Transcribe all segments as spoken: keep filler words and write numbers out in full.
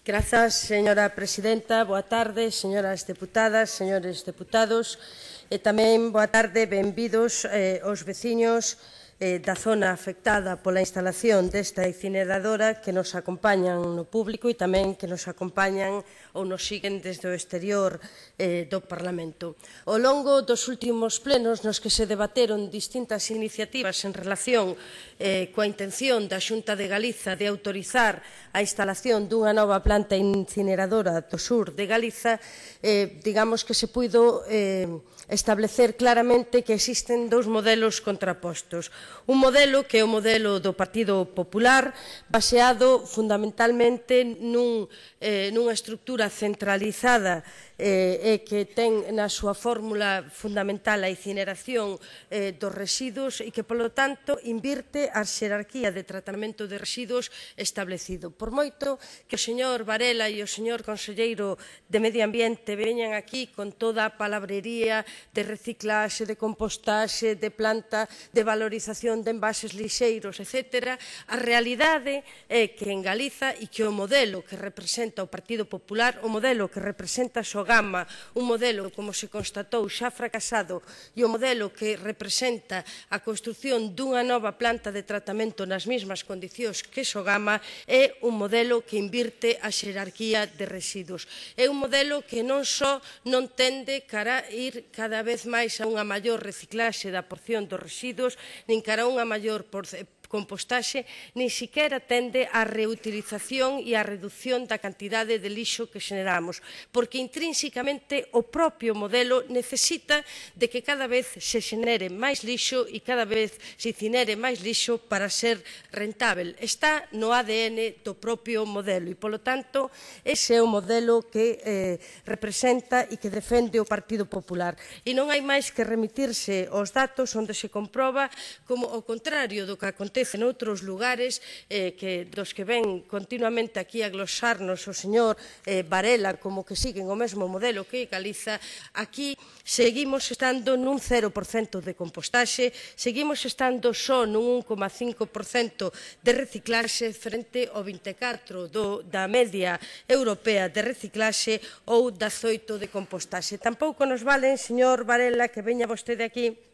Grazas, señora presidenta. Boa tarde, señoras deputadas, señores deputados. E tamén boa tarde, benvidos eh, os veciños eh, da zona afectada pola instalación desta incineradora que nos acompañan no público e tamén que nos acompañan ou nos siguen desde o exterior eh, do Parlamento. Ao longo dos últimos plenos nos que se debateron distintas iniciativas en relación eh, coa intención da Xunta de Galiza de autorizar a instalación dunha nova planta incineradora do sur de Galiza, eh, digamos que se puido eh, establecer claramente que existen dous modelos contrapostos. Un modelo que é o modelo do Partido Popular, baseado fundamentalmente nun, eh, nunha estructura centralizada eh, e que ten na súa fórmula fundamental a incineración eh, dos residuos e que, polo tanto, invirte a xerarquía de tratamento de residuos establecido. Por moito que o señor Varela e o señor conselleiro de Medio Ambiente veñan aquí con toda a palabrería de reciclaxe, de compostaxe, de planta de valorización de envases lixeiros, etcétera, a realidade é que en Galiza e que o modelo que representa o Partido Popular, o modelo que representa Sogama, un modelo, como se constatou, xa fracasado, e o modelo que representa a construción dunha nova planta de tratamento nas mesmas condicións que Sogama, é un modelo que invirte a xerarquía de residuos. É un modelo que non só non tende cara a ir cada vez máis a unha maior reciclaxe da porción dos residuos, nin cara a unha maior compostaxe, nin siquera tende á reutilización e á reducción da cantidade de lixo que xeneramos, porque intrínsecamente o propio modelo necesita de que cada vez se xenere máis lixo e cada vez se incinere máis lixo para ser rentável. Está no A D N do propio modelo e, polo tanto, ese é o modelo que eh, representa e que defende o Partido Popular. E non hai máis que remitirse aos datos onde se comproba como, ao contrario do que acontece en outros lugares eh, que, dos que ven continuamente aquí a glosarnos o señor eh, Varela como que siguen o mesmo modelo que Galiza, aquí seguimos estando nun cero por cento de compostaxe, seguimos estando só nun un coma cinco por cento de reciclaxe frente ao vinte e catro por cento do, da media europea de reciclaxe ou da dezoito por cento de compostaxe. Tampouco nos valen, señor Varela, que veña vostede aquí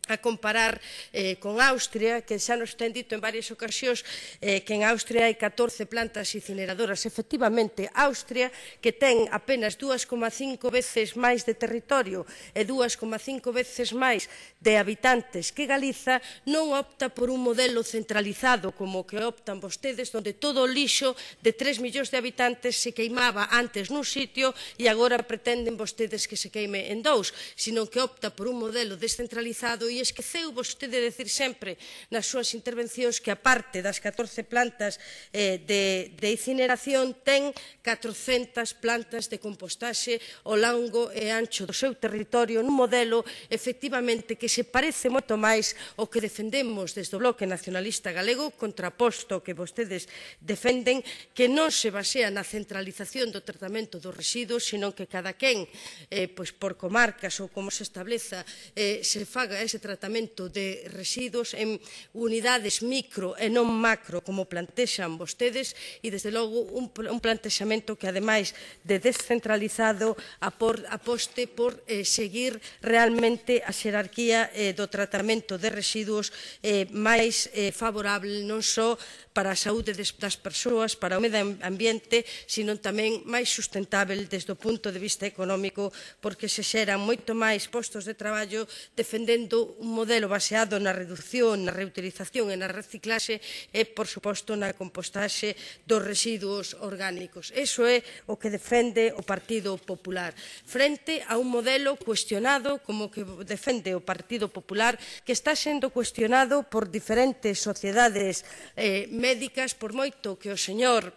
a comparar eh, con Austria, que xa nos ten dito en varias ocasións eh, que en Austria hai catorce plantas incineradoras. Efectivamente, Austria, que ten apenas dúas coma cinco veces máis de territorio e dúas coma cinco veces máis de habitantes que Galiza, non opta por un modelo centralizado como que optan vostedes, onde todo o lixo de tres millóns de habitantes se queimaba antes nun sitio e agora pretenden vostedes que se queime en dous, sino que opta por un modelo descentralizado. E esqueceu vostede de decir sempre nas súas intervencións que, aparte das catorce plantas eh, de, de incineración, ten catrocentas plantas de compostaxe ao longo e ancho do seu territorio, nun modelo, efectivamente, que se parece moito máis ao que defendemos desde o Bloque Nacionalista Galego, contraposto que vostedes defenden, que non se basea na centralización do tratamento dos residuos, sino que cada quen, eh, pois por comarcas ou como se estableza, eh, se faga ese tratamento de residuos en unidades micro e non macro, como plantexan vostedes, e, desde logo, un, un plantexamento que, ademais de descentralizado, apor, aposte por eh, seguir realmente a xerarquía eh, do tratamento de residuos eh, máis eh, favorable non só para a saúde das persoas, para o medio ambiente, sino tamén máis sustentável desde o punto de vista económico, porque se xeran moito máis postos de traballo defendendo un modelo baseado na reducción, na reutilización e na reciclaxe e, por suposto, na compostaxe dos residuos orgánicos. Iso é o que defende o Partido Popular, frente a un modelo cuestionado como que defende o Partido Popular, que está sendo cuestionado por diferentes sociedades eh, médicas, por moito que o señor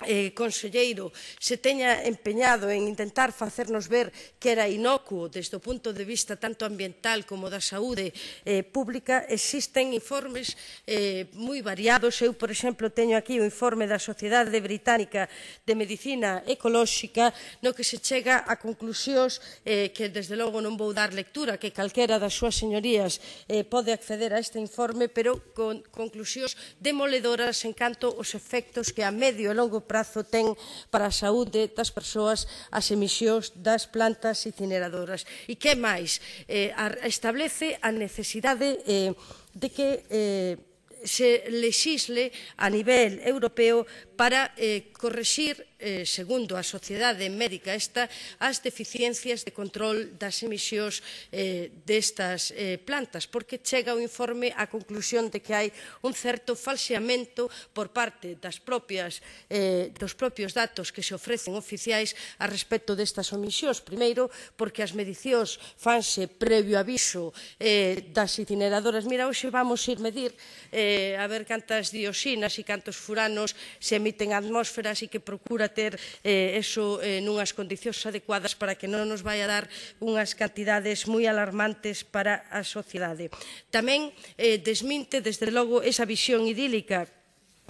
eh, conselleiro se teña empeñado en intentar facernos ver que era inocuo desde o punto de vista tanto ambiental como da saúde eh, pública, existen informes eh, moi variados. Eu, por exemplo, teño aquí o informe da Sociedade Británica de Medicina Ecolóxica, no que se chega a conclusións eh, que, desde logo, non vou dar lectura, que calquera das súas señorías eh, pode acceder a este informe, pero con conclusións demoledoras en canto aos efectos que a medio e longo longo prazo ten para a saúde das persoas as emisións das plantas incineradoras. E que máis? Eh, establece a necesidade eh, de que eh, se lexisle a nivel europeo para eh, correxir, eh, segundo a Sociedade Médica esta, as deficiencias de control das emisións eh, destas eh, plantas, porque chega o informe á conclusión de que hai un certo falseamento por parte das propias, eh, dos propios datos que se ofrecen oficiais a respecto destas emisións. Primeiro, porque as medicións fanse previo aviso eh, das incineradoras. Mira, hoxe vamos ir medir eh, a ver cantas dioxinas e cantos furanos se emiten á atmósfera, así que procura ter eh, eso eh, nunhas condicións adecuadas para que non nos vai a dar unhas cantidades moi alarmantes para a sociedade. Tamén eh, desminte, desde logo, esa visión idílica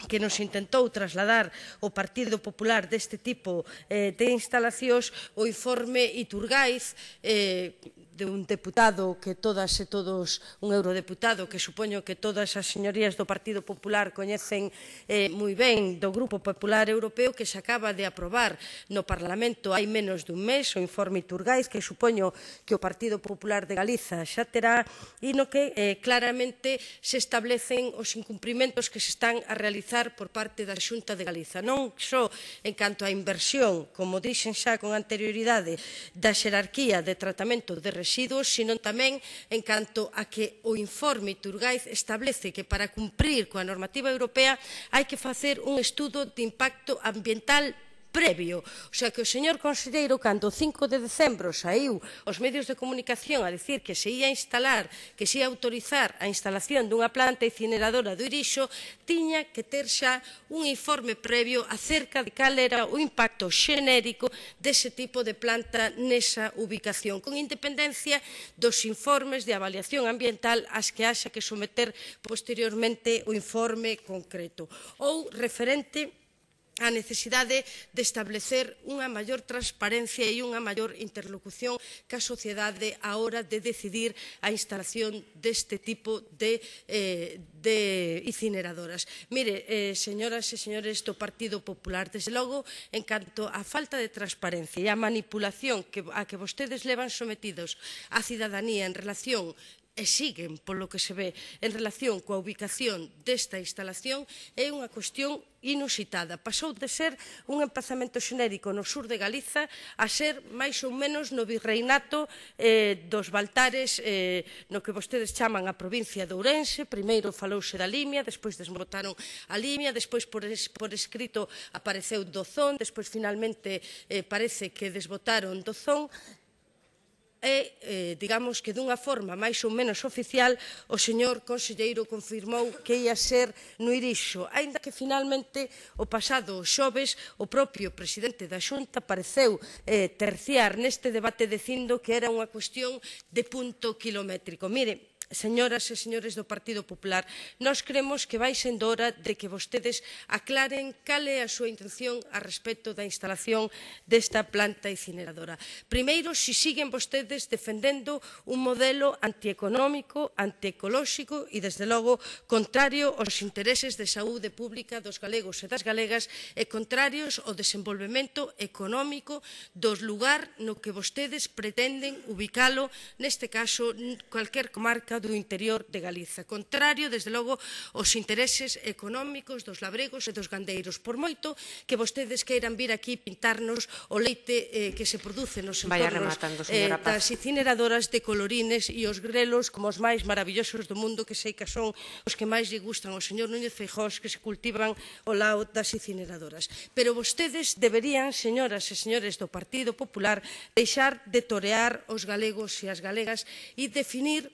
que nos intentou trasladar o Partido Popular deste tipo eh, de instalacións, o informe Iturgaiz, eh, de un deputado que todas e todos, un eurodeputado que supoño que todas as señorías do Partido Popular coñecen eh, moi ben, do Grupo Popular Europeo, que se acaba de aprobar no Parlamento hai menos dun mes, o informe Iturgaiz, que supoño que o Partido Popular de Galiza xa terá, e no que eh, claramente se establecen os incumprimentos que se están a realizar por parte da Xunta de Galiza, non só en canto á inversión, como dixen xa con anterioridade, da xerarquía de tratamento de residuos, sino tamén en canto a que o informe Iturgaiz establece que para cumprir coa normativa europea hai que facer un estudo de impacto ambiental previo. O sea, que o señor conselleiro, cando o cinco de decembro saiu aos medios de comunicación a dicir que se ia instalar, que se ia autorizar a instalación dunha planta incineradora do Irixo, tiña que ter xa un informe previo acerca de cal era o impacto xenérico dese tipo de planta nesa ubicación, con independencia dos informes de avaliación ambiental ás que haxa que someter posteriormente o informe concreto. Ou referente a necesidade de establecer unha maior transparencia e unha maior interlocución ca sociedade á hora de decidir a instalación deste tipo de, eh, de incineradoras. Mire, eh, señoras e señores do Partido Popular, desde logo, en canto á falta de transparencia e á manipulación que, a que vostedes levan sometidos á cidadanía en relación e siguen, polo que se ve, en relación coa ubicación desta instalación, é unha cuestión inusitada. Pasou de ser un emprazamento xenérico no sur de Galiza a ser máis ou menos no virreinato eh, dos Baltares, eh, no que vostedes chaman a provincia de Ourense. Primeiro falouse da Limia, despois desbotaron a Limia, despois por, es, por escrito apareceu Dozón, despois finalmente eh, parece que desbotaron Dozón, e, eh, digamos que dunha forma máis ou menos oficial, o señor conselleiro confirmou que ia ser no Irixo, aínda que finalmente o pasado xoves o propio presidente da Xunta pareceu eh, terciar neste debate dicindo que era unha cuestión de punto kilométrico. Mire, señoras e señores do Partido Popular, nós cremos que vai sendo hora de que vostedes aclaren cal é a súa intención a respecto da instalación desta planta incineradora. Primeiro, se siguen vostedes defendendo un modelo antieconómico, antiecolóxico e, desde logo, contrario aos intereses de saúde pública dos galegos e das galegas e contrarios ao desenvolvemento económico dos lugar no que vostedes pretenden ubicalo, neste caso, cualquier comarca do interior de Galiza, contrario, desde logo, aos intereses económicos dos labregos e dos gandeiros, por moito que vostedes queiran vir aquí pintarnos o leite eh, que se produce nos entornos eh, das incineradoras de colorines e os grelos como os máis maravillosos do mundo, que sei que son os que máis lle gustan ao señor Núñez Feijóo, que se cultivan ao lado das incineradoras. Pero vostedes deberían, señoras e señores do Partido Popular, deixar de torear os galegos e as galegas e definir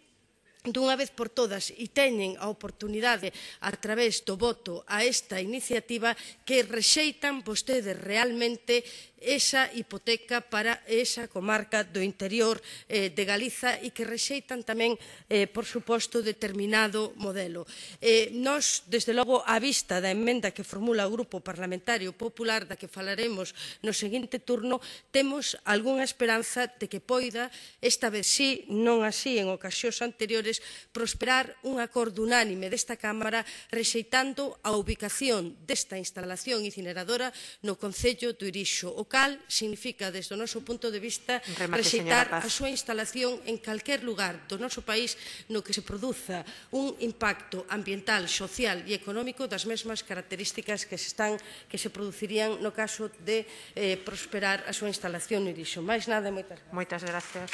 dunha vez por todas, e teñen a oportunidade a través do voto a esta iniciativa, que rexeitan vostedes realmente esa hipoteca para esa comarca do interior eh, de Galiza e que rexeitan tamén, eh, por suposto, determinado modelo. Eh, nós, desde logo, á vista da emenda que formula o Grupo Parlamentario Popular, da que falaremos no seguinte turno, temos algunha esperanza de que poida, esta vez sí, non así en ocasións anteriores, prosperar un acordo unánime desta Cámara rexeitando a ubicación desta instalación incineradora no Concello do Irixo, o cal significa, desde o noso punto de vista, rexeitar a súa instalación en calquer lugar do noso país no que se produza un impacto ambiental, social e económico das mesmas características que se, están, que se producirían no caso de eh, prosperar a súa instalación no Irixo. Máis nada e moitas gracias. Moitas gracias.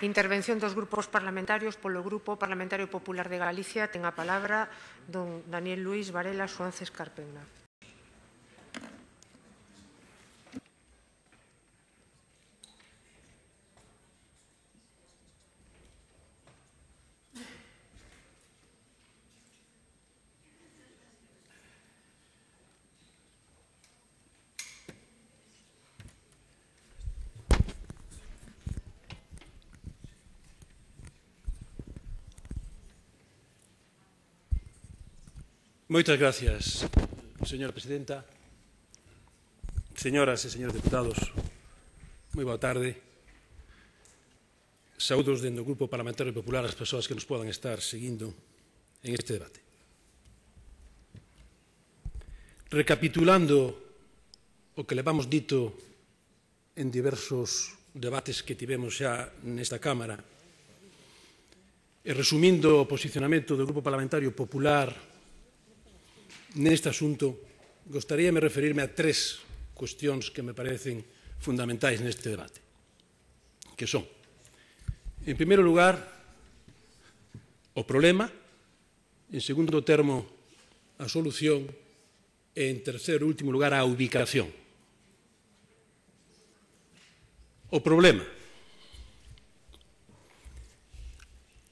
Intervención dos grupos parlamentarios. Polo Grupo Parlamentario Popular de Galicia ten a palabra don Daniel Luis Varela Suances Carpena. Moitas gracias, señora presidenta. Señoras e señores deputados, moi boa tarde. Saúdos dentro do Grupo Parlamentario Popular as persoas que nos podan estar seguindo en este debate. Recapitulando o que levamos dito en diversos debates que tivemos xa nesta Cámara e resumindo o posicionamento do Grupo Parlamentario Popular neste asunto, gostaríame referirme a tres cuestións que me parecen fundamentais neste debate, que son, en primeiro lugar, o problema, en segundo termo, a solución e, en terceiro e último lugar, a ubicación. O problema.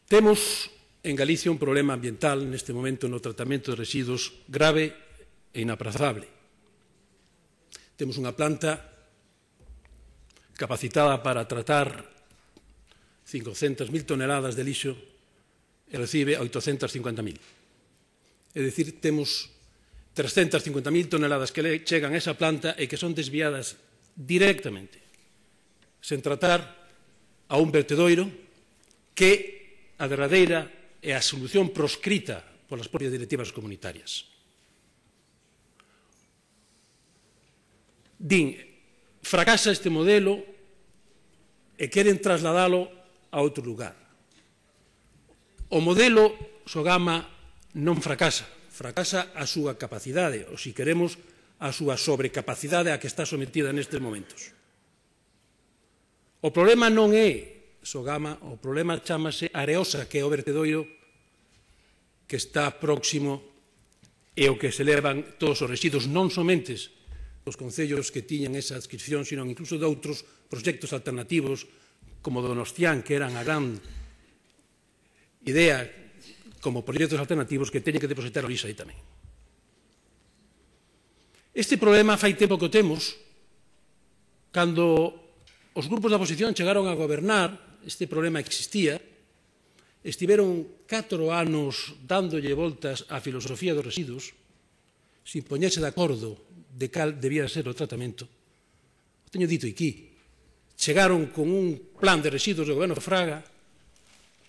Temos en Galicia un problema ambiental neste momento no tratamento de residuos grave e inaprazable. Temos unha planta capacitada para tratar cincocentas mil toneladas de lixo e recibe oitocentas cincuenta mil. É dicir, temos trescentas cincuenta mil toneladas que chegan a esa planta e que son desviadas directamente, sen tratar, a un vertedoiro que a derradeira é a solución proscrita polas propias directivas comunitarias. Din, fracasa este modelo e queren trasladalo a outro lugar. O modelo Sogama non fracasa, fracasa a súa capacidade, ou, se queremos, a súa sobrecapacidade a que está sometida nestes momentos. O problema non é Sogama, o problema chámase Areosa, que é o vertedoiro que está próximo e o que se levan todos os residuos, non somente os concellos que tiñan esa adscripción, sino incluso de outros proxectos alternativos, como Donostián, que eran a gran idea como proxectos alternativos que teñen que depositar o lixo aí tamén. Este problema fai tempo que o temos. Cando os grupos da oposición chegaron a gobernar, este problema existía, estiveron catro anos dándolle voltas á filosofía dos residuos, sin poñerse de acordo de cal debía ser o tratamento. O teño dito aquí. Chegaron con un plan de residuos do goberno Fraga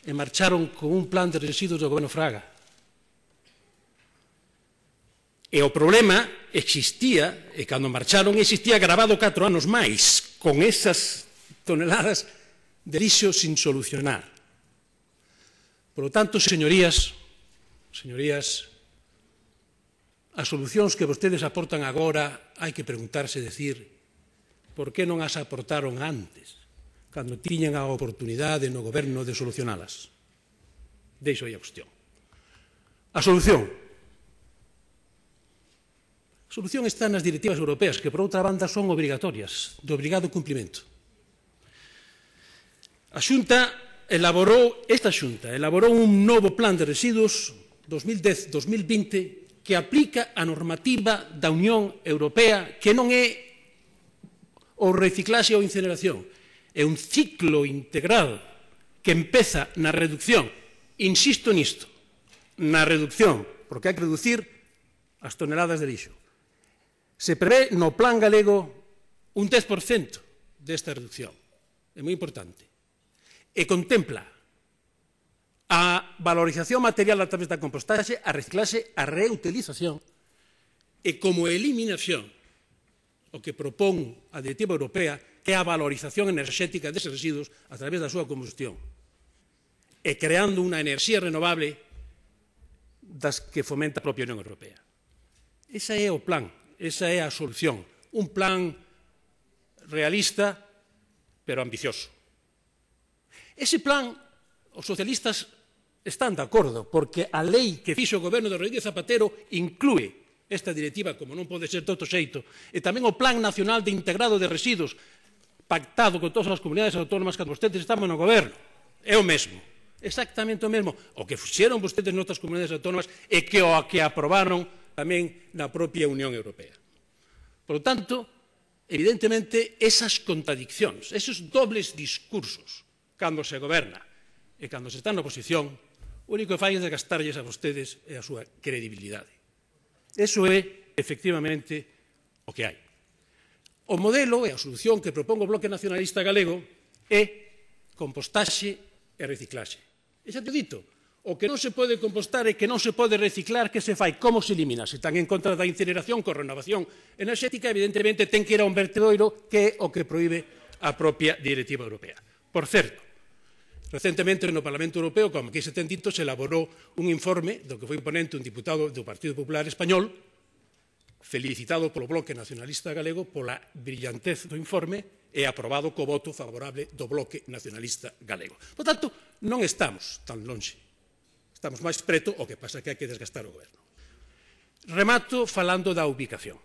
e marcharon con un plan de residuos do goberno Fraga. E o problema existía, e cando marcharon existía agravado catro anos máis, con esas toneladas de lixo sin solucionar. Por lo tanto, señorías, señorías, as solucións que vostedes aportan agora hai que preguntarse, decir, por que non as aportaron antes, cando tiñan a oportunidade no goberno de solucionalas? Deixo aí a cuestión. A solución. A solución está nas directivas europeas, que por outra banda son obrigatorias, de obrigado cumprimento. A Xunta elaborou, esta Xunta elaborou un novo plan de residuos dos mil dez dos mil vinte que aplica a normativa da Unión Europea, que non é o reciclaxe ou incineración, é un ciclo integrado que empeza na reducción, insisto nisto, na reducción, porque hai que reducir as toneladas de lixo. Se prevé no plan galego un dez por cento desta reducción, é moi importante, e contempla a valorización material a través da compostaxe, a reciclaxe, a reutilización e como eliminación o que propón a Directiva Europea que é a valorización enerxética deses residuos a través da súa combustión e creando unha enerxía renovable das que fomenta a propia Unión Europea. Ese é o plan, esa é a solución, un plan realista pero ambicioso. Ese plan, os socialistas están de acordo, porque a lei que fixo o goberno de Rodríguez Zapatero inclúe esta directiva, como non pode ser de outro xeito, e tamén o Plan Nacional de Integrado de Residuos, pactado con todas as comunidades autónomas cando vostedes estaban no goberno. É o mesmo, exactamente o mesmo. O que fixeron vostedes noutras comunidades autónomas e que o que aprobaron tamén na propia Unión Europea. Por lo tanto, evidentemente, esas contradiccións, esos dobles discursos, cando se goberna e cando se está na oposición, o único que fai é desgastarlles a vostedes e a súa credibilidade. Eso é, efectivamente, o que hai. O modelo e a solución que propón o Bloque Nacionalista Galego é compostaxe e reciclaxe. E xa te dito, o que non se pode compostar e que non se pode reciclar, que se fai? Como se elimina? Se están en contra da incineración con renovación enerxética, evidentemente ten que ir a un vertedoiro, que é o que proíbe a propia Directiva Europea. Por certo, recentemente no Parlamento Europeo, como aquí se ten dito, se elaborou un informe do que foi ponente un diputado do Partido Popular Español, felicitado polo Bloque Nacionalista Galego pola brillantez do informe e aprobado co voto favorable do Bloque Nacionalista Galego. Por tanto, non estamos tan lonxe. Estamos máis preto, o que pasa que hai que desgastar o goberno. Remato falando da ubicación.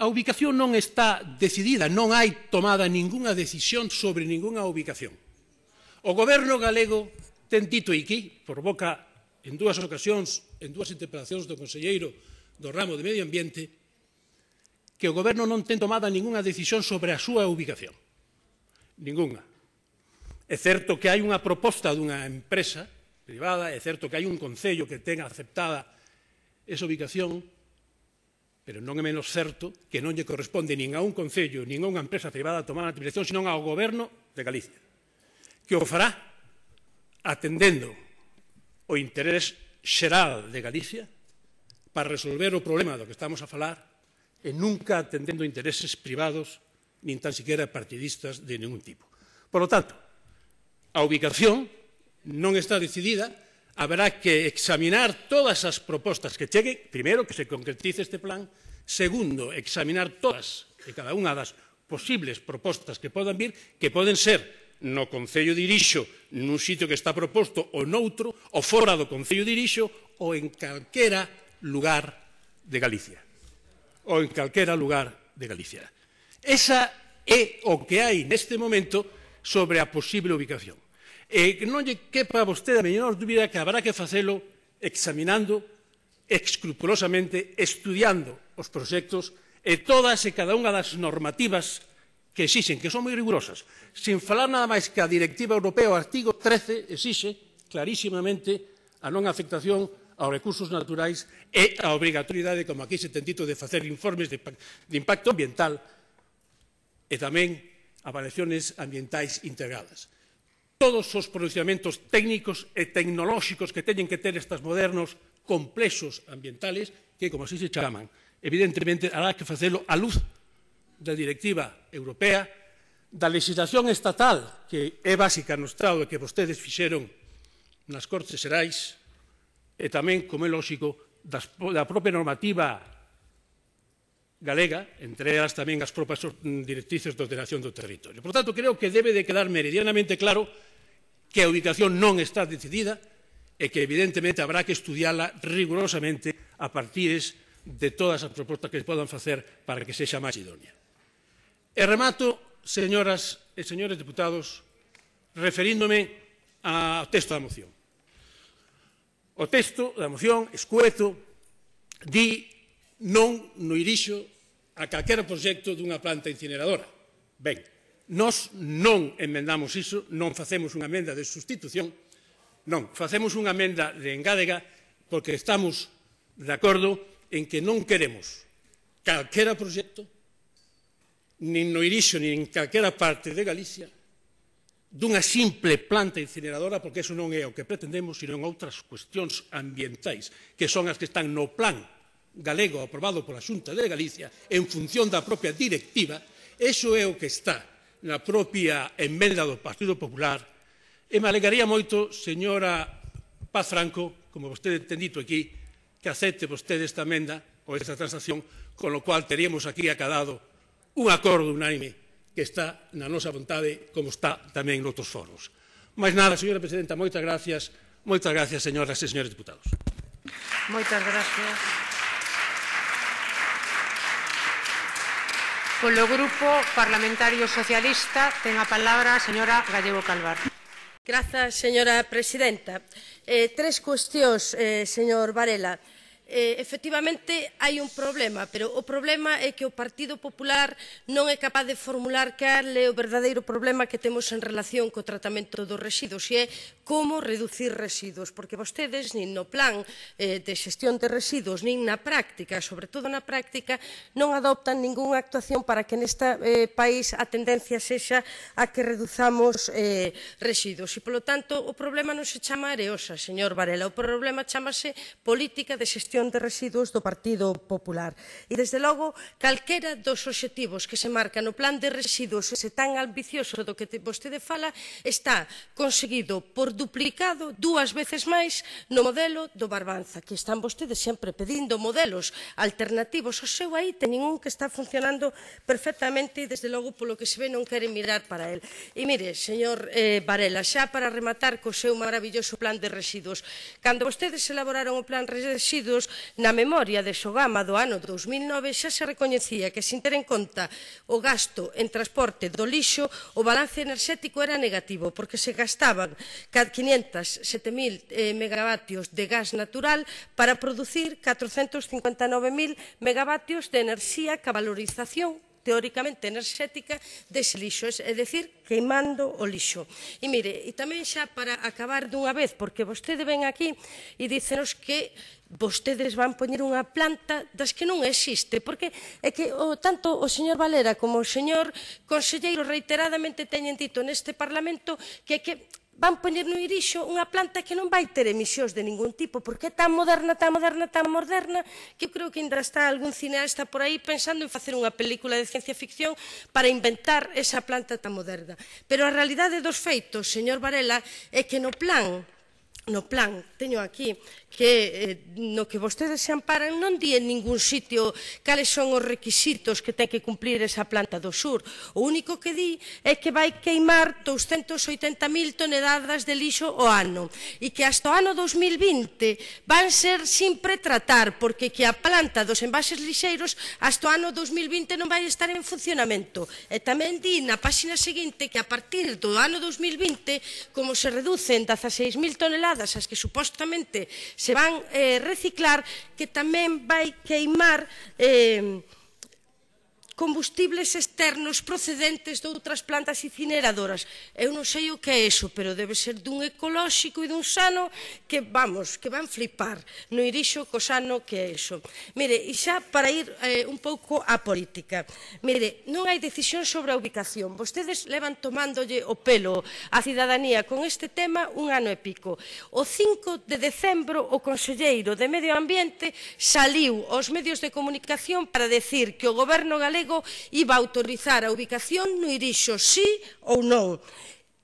A ubicación non está decidida, non hai tomada ningunha decisión sobre ningunha ubicación. O goberno galego ten dito aquí, por boca en dúas ocasións, en dúas interpelacións do conselleiro do ramo de Medio Ambiente, que o goberno non ten tomada ningunha decisión sobre a súa ubicación. Ningunha. É certo que hai unha proposta dunha empresa privada, é certo que hai un concello que ten aceptada esa ubicación, pero non é menos certo que non lle corresponde nin a un concello nin a unha empresa privada tomar a dirección, senón ao goberno de Galicia, que o fará atendendo o interés xeral de Galicia para resolver o problema do que estamos a falar e nunca atendendo intereses privados nin tan siquiera partidistas de ningún tipo. Por lo tanto, a ubicación non está decidida. Haberá que examinar todas as propostas que cheguen, primeiro, que se concretice este plan, segundo, examinar todas e cada unha das posibles propostas que podan vir, que poden ser no Concello de Irixo, nun sitio que está proposto, ou noutro, ou fora do Concello de Irixo, ou en calquera lugar de Galicia. Ou en calquera lugar de Galicia. Esa é o que hai neste momento sobre a posible ubicación. E que non lle quepa a vostede a menor dúbida que habrá que facelo examinando escrupulosamente, estudiando os proxectos e todas e cada unha das normativas que exixen, que son moi rigurosas, sin falar nada máis que a Directiva Europea, o artigo trece, exixe clarísimamente a non afectación aos recursos naturais e a obrigatoriedade, como aquí se ten dito, de facer informes de impacto ambiental e tamén avaliaciones ambientais integradas. Todos os pronunciamentos técnicos e tecnolóxicos que teñen que ter estes modernos complexos ambientales, que, como así se chaman, evidentemente, hará que facelo á luz da Directiva Europea, da legislación estatal, que é básica no Estado e que vostedes fixeron nas Cortes Xerais, e tamén, como é lógico, das, da propia normativa galega, entre elas tamén as propias directrices de ordenación do territorio. Por tanto, creo que debe de quedar meridianamente claro que a ubicación non está decidida e que, evidentemente, habrá que estudiala rigurosamente a partir de todas as propostas que se podan facer para que sexa máis idónea. E remato, señoras e señores deputados, referíndome ao texto da moción. O texto da moción, escueto, di non no Irixo a calquera proxecto dunha planta incineradora. Ben, nós non emendamos iso, non facemos unha emenda de sustitución, non, facemos unha emenda de engádega porque estamos de acordo en que non queremos calquera proxecto, nin no Irixo, nin en calquera parte de Galicia, dunha simple planta incineradora, porque eso non é o que pretendemos, sino en outras cuestións ambientais, que son as que están no plan galego aprobado pola Xunta de Galicia en función da propia directiva. Eso é o que está na propia emenda do Partido Popular. E me alegaría moito, señora Paz Franco, como vostede ten dito aquí, que acepte vostede esta emenda ou esta transacción, con lo cual teríamos aquí acadado un acordo unánime que está na nosa vontade, como está tamén noutros foros. Mais nada, señora presidenta, moitas gracias, moitas gracias, señoras e señores deputados. Moitas gracias. Polo Grupo Parlamentario Socialista ten a palabra a señora Gallego Calvar. Grazas, señora presidenta. Eh, tres cuestións, eh, señor Varela. Eh, efectivamente, hai un problema, pero o problema é que o Partido Popular non é capaz de formular cal é o verdadeiro problema que temos en relación co tratamento dos residuos, e é como reducir residuos, porque vostedes, nin no plan eh, de xestión de residuos, nin na práctica, sobre todo na práctica, non adoptan ningunha actuación para que neste eh, país a tendencia sexa a que reduzamos eh, residuos. E, polo tanto, o problema non se chama Areosa, señor Varela, o problema chamase política de xestión de residuos do Partido Popular. E, desde logo, calquera dos obxectivos que se marca no plan de residuos, ese tan ambicioso do que vostede fala, está conseguido por duplicado dúas veces máis no modelo do Barbanza, que están vostedes sempre pedindo modelos alternativos. O seu aí ten ningún que está funcionando perfectamente e, desde logo, polo que se ve, non queren mirar para el. E, mire, señor eh, Varela, xa para rematar co seu maravilloso plan de residuos, cando vostedes elaboraron o plan de residuos, na memoria de Sogama do ano dos mil nove xa se recoñecía que, sin ter en conta o gasto en transporte do lixo, o balance enerxético era negativo, porque se gastaban quinhentos e sete mil eh, megavatios de gas natural para producir catrocentos cincuenta e nove mil megavatios de enerxía ca valorización teóricamente enerxética dese lixo, é dicir, queimando o lixo. E mire, e tamén xa para acabar dunha vez, porque vostede ven aquí e dícenos que vostedes van poñer unha planta das que non existe, porque é que o, tanto o señor Valera como o señor conselleiro reiteradamente teñen dito neste Parlamento que é que van poñer no Irixo unha planta que non vai ter emisións de ningún tipo, porque é tan moderna, tan moderna, tan moderna, que eu creo que ainda está algún cineasta por aí pensando en facer unha película de ciencia ficción para inventar esa planta tan moderna. Pero a realidade dos feitos, señor Varela, é que no plan no plan, teño aquí, que eh, no que vostedes se amparan non di en ningún sitio cales son os requisitos que ten que cumplir esa planta do sur. O único que di é que vai queimar doscientas oitenta mil toneladas de lixo ao ano e que hasta o ano dos mil vinte van ser sin pretratar, porque que a planta dos envases lixeiros hasta o ano dos mil vinte non vai estar en funcionamento. E tamén di na páxina seguinte que a partir do ano dos mil vinte, como se reducen dezaseis mil toneladas as que supostamente se van eh, reciclar, que tamén vai queimar eh, combustibles externos procedentes de outras plantas incineradoras. Eu non sei o que é iso, pero debe ser dun ecolóxico e dun sano que, vamos, que van flipar no Irixo co sano que é iso. Mire, e xa para ir eh, un pouco á política. Mire, non hai decisión sobre a ubicación. Vostedes levan tomándolle o pelo á cidadanía con este tema un ano e pico. O cinco de decembro o conselleiro de Medio Ambiente saliu aos medios de comunicación para decir que o goberno galego iba a autorizar a ubicación no Irixo, sí ou non.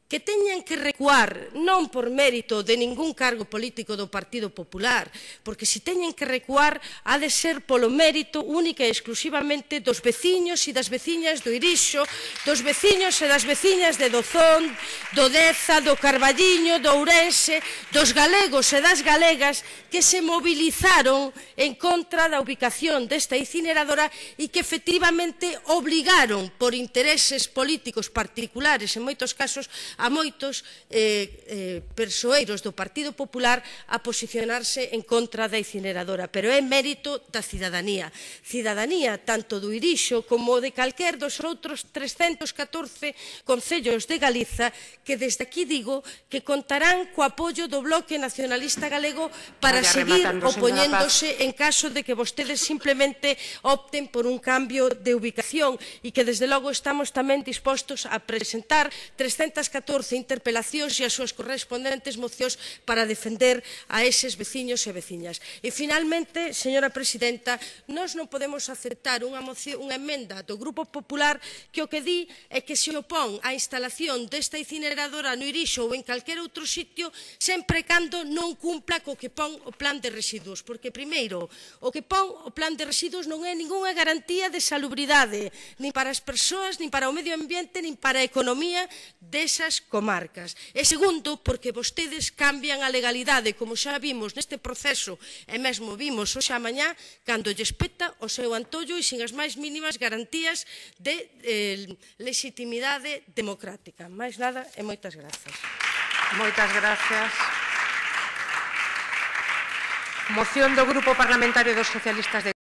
Que teñan que recuar non por mérito de ningún cargo político do Partido Popular, porque se teñen que recuar ha de ser polo mérito única e exclusivamente dos veciños e das veciñas do Irixo, dos veciños e das veciñas de Dozón, do Deza, do Carballiño, do Ourense, dos galegos e das galegas que se movilizaron en contra da ubicación desta incineradora e que efectivamente obligaron por intereses políticos particulares, en moitos casos, a moitos eh, eh, persoeiros do Partido Popular a posicionarse en contra da incineradora, pero é mérito da cidadanía. Cidadanía tanto do Irixo como de calquer dos outros trescentos e catorce concellos de Galiza que desde aquí digo que contarán co apoio do Bloque Nacionalista Galego para seguir opoñéndose en caso de que vostedes simplemente opten por un cambio de ubicación e que desde logo estamos tamén dispostos a presentar trescentas e catorce interpelacións e as súas correspondentes mocións para defender a eses veciños e veciñas. E finalmente, señora presidenta, nós non podemos aceptar unha, moción, unha emenda do Grupo Popular que o que di é que se opón á instalación desta incineradora no Irixo ou en calquer outro sitio sempre cando non cumpla co que pon o plan de residuos, porque primeiro, o que pon o plan de residuos non é ningunha garantía de salubridade, nin para as persoas, nin para o medio ambiente, nin para a economía desas comarcas. E segundo, porque vostedes cambian a legalidade, como xa vimos neste proceso, e mesmo vimos hoxe a mañá, cando lles peta o seu antollo e sin as máis mínimas garantías de eh, legitimidade democrática. Máis nada e moitas grazas. Moitas grazas. Moción do Grupo Parlamentario dos Socialistas de